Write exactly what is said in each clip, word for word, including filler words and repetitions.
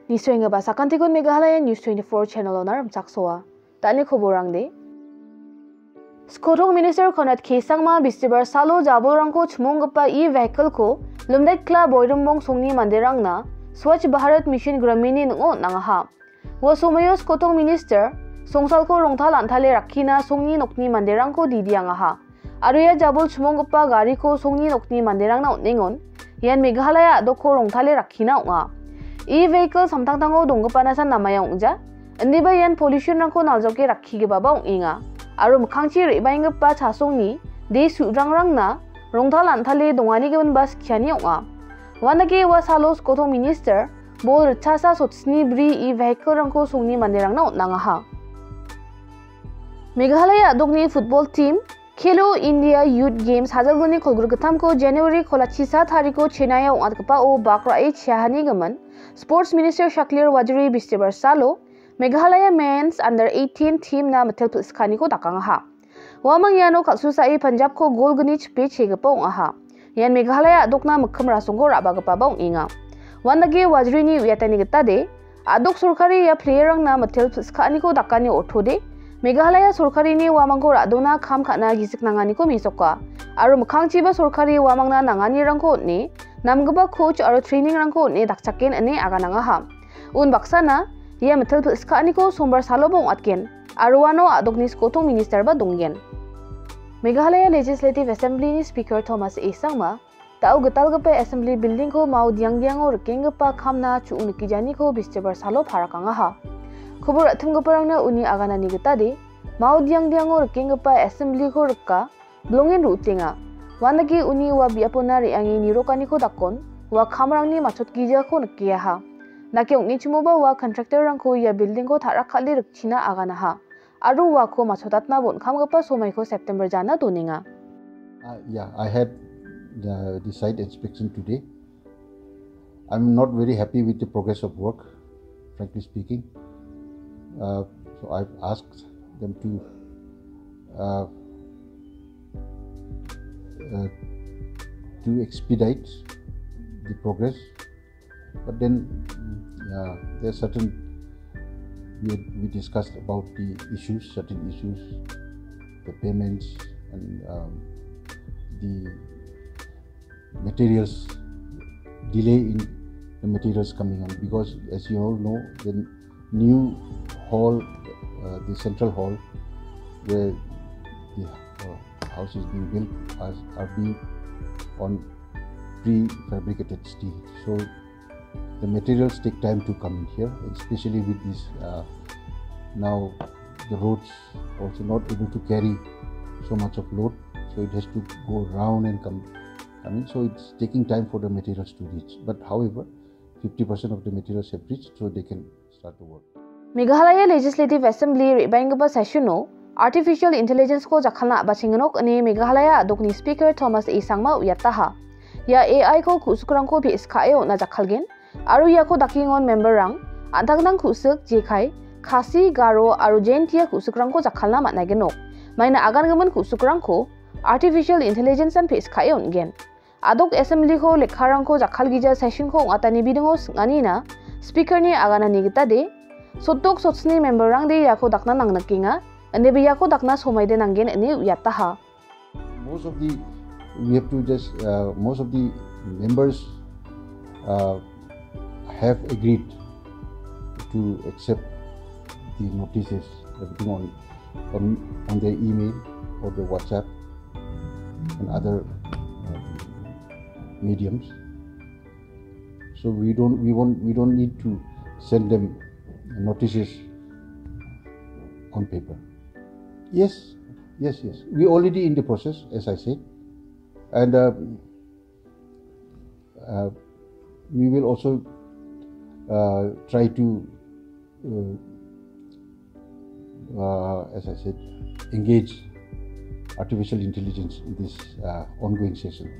Nisoenggipa sakantikon Meghalaya News twenty-four channel-ona rimchaksoa. Dani koborangde. Skotong Minister Conrad K Sangma bistibar salo jabolrangko chimonggipa e-vehicle-ko Lumdekla Boirumbong songni manderangna Swachh Bharat Mission Gramin-ni ning·o on·angaha. Ua somoio Skotong Minister songsalko rongtal antale rakkina songni nokni manderangko didiangaha. Aro ia jabol chimonggipa gariko songni nokni manderangna on·engon, ian Meghalaya a·dokko rongtale rakkina ong·a. E-vehicle samtangtango donggipanasan namaia ong·ja, indiba ian pollution-rangko naljoke rakkigipaba ong·enga. Aro mikkangchi re·baenggipa chasongni de su·drangrangna rongtal antale donganigiminba skiani ong·a. Uandake ua salo Skotong Minister bol ritchasa sotsni bri e-vehicle-rangko songni manderangna on·angaha. Meghalaya a·dokni football team Khelo India Youth Games hajalgni kolgrikgittamko January kolachisa tariko Chennai-o ong·atgipao bak ra·e chiahanigimin Sports Minister Shaklir Wajri bistibar salo Meghalaya Men's Under eighteen team-na mitel pil·sikaniko dakangaha. Uamang iano kal·susae Punjab-ko gol gni chipe chegipa ong·aha. Ian Meghalaya a·dokna mikkim rasongko ra·bagipaba ong·enga. Uandake Wajrini uiatani gitade, a·dok sorkari ia player-rangna mitel pil·sikaniko dakani ortode, Meghalaya sorkarini uamangko ra·dona kam ka·na gisik nanganiko mesoka. Aro mikkangchiba sorkari uamangna nanganirangko on·e, namgipa coach aro training-rangko on·e dakchaken ine aganangaha. Unbaksana ia mitel pil·sikaniko sombar saloba ong·atgen, aro uano a·dokni skotong minister-ba donggen. Meghalaya Legislative Assembly-ni Speaker Thomas A Sangma, da·o gitalgipa Assembly Building-ko mao diangdiango rikenggipa kamna chu·ong nikijaniko bistibar salo parakangaha. Kobor ra·timgiparangna uni aganani gitade, mao diangdiango rikenggipa Assembly-ko rika, bilongen ru·utenga. Uandake uni ua biapona re·ange nirokaniko dakon, ua kamrangni matchotgijako nikeaha. Nake ong·nichimoba ua contractor-rangko ia building-ko ta·rakkale rikchina aganaha. Aro uako matchotatna bon·kamgipa somaiko September jana donenga. Uh, yeah, I had the, the site inspection today. I'm not very happy with the progress of work, frankly speaking. Uh, so I've asked them to, uh, uh, to expedite the progress. But then, uh, there are certain, we, we discussed about the issues, certain issues, the payments and, um, the materials, delay in the materials coming on, because as you all know, the new hall, uh, the central hall where the, uh, house is being built are, are being on prefabricated steel. So the materials take time to come in here, especially with this, uh, now the roads also not able to carry so much of load, so it has to go round and come, I mean, so it's taking time for the materials to reach. But however, fifty percent of the materials have reached, so they can start the work. Meghalaya Legislative Assembly re·baenggipa session-o Artificial Intelligence-ko jakkalna a·bachengnok ine Meghalaya a·dokni Speaker Thomas A Sangma uiataha. Ia A I-ko ku·sikrangko pe·skae on·a jakkalgen, aro iako dakengon member-rang an·tangtang ku·sik jekai, Khasi, Garo aro Jaintia ku·sikrangko jakkalna man·aigenok. Maina agangimin ku·sikrangko Artificial Intelligence-an pe·skae on·gen. A·dok Assembly-ko lekkarangko jakkalgija session-ko ong·atani bidingo sing·anina Speaker-ni aganani gitade, sotdok sotsni member-rangde iako dakna nangnikenga, indiba iako dakna somaide nanggen ine uiataha. Most of the, we have to just, uh, most of the members, uh, have agreed to accept the notices, everything on, on, on their email or their WhatsApp and other, uh, mediums. So we don't, we won't, we don't need to send them notices on paper. Yes, yes, yes. We already in the process, as I said, and, uh, uh, we will also, uh, try to, uh, uh, as I said, engage artificial intelligence in this, uh, ongoing session.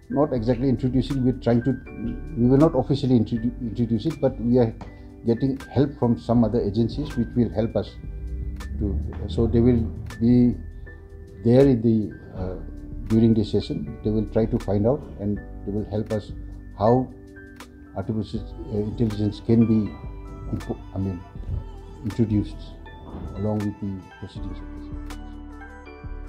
Not exactly introducing, we're trying to, we will not officially introdu-, introduce it, but we are getting help from some other agencies which will help us to, so they will be there in the, uh, during the session. They will try to find out and they will help us how artificial, uh, intelligence can be impo-, I mean, introduced along with the proceedings of this.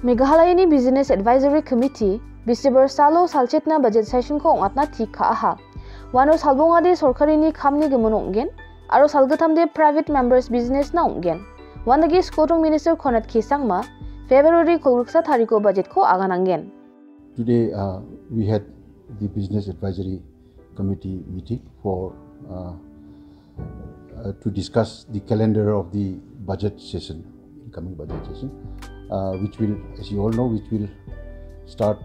Meghalayani Business Advisory Committee December salo salchetna budget session-ko ong·atna tik ka·aha. Uano salbongade sorkarini kamni gimin ong·gen, aro salgittamde private members business-na ong·gen. Uandake Skotong Minister Conrad K Sangma February kolgriksa tariko budget-ko aganangen. Today, uh, we had the Business Advisory Committee meeting for, uh, uh, to discuss the calendar of the budget session, incoming budget session, uh, which will, as you all know, which will start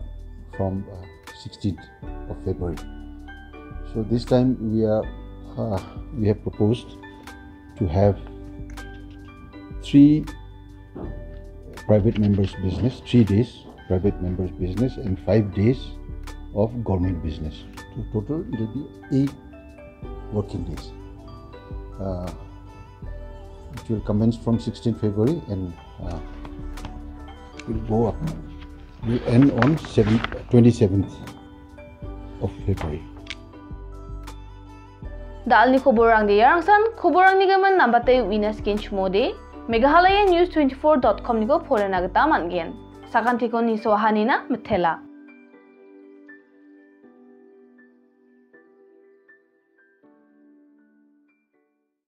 from, uh, sixteenth of February. So this time we are, uh, we have proposed to have three private members business, three days private members business and five days of government business. So total it will be eight working days, uh, which will commence from sixteenth February and, uh, will go up, will end on seven, twenty-seventh of February. Da·alni koborrangde iarangsan, koborrangni gimin nambate uina skenchimode, Meghalaya News twenty-four dot com-niko porena gita man·gen. Sakantiko nisoahanina mitela.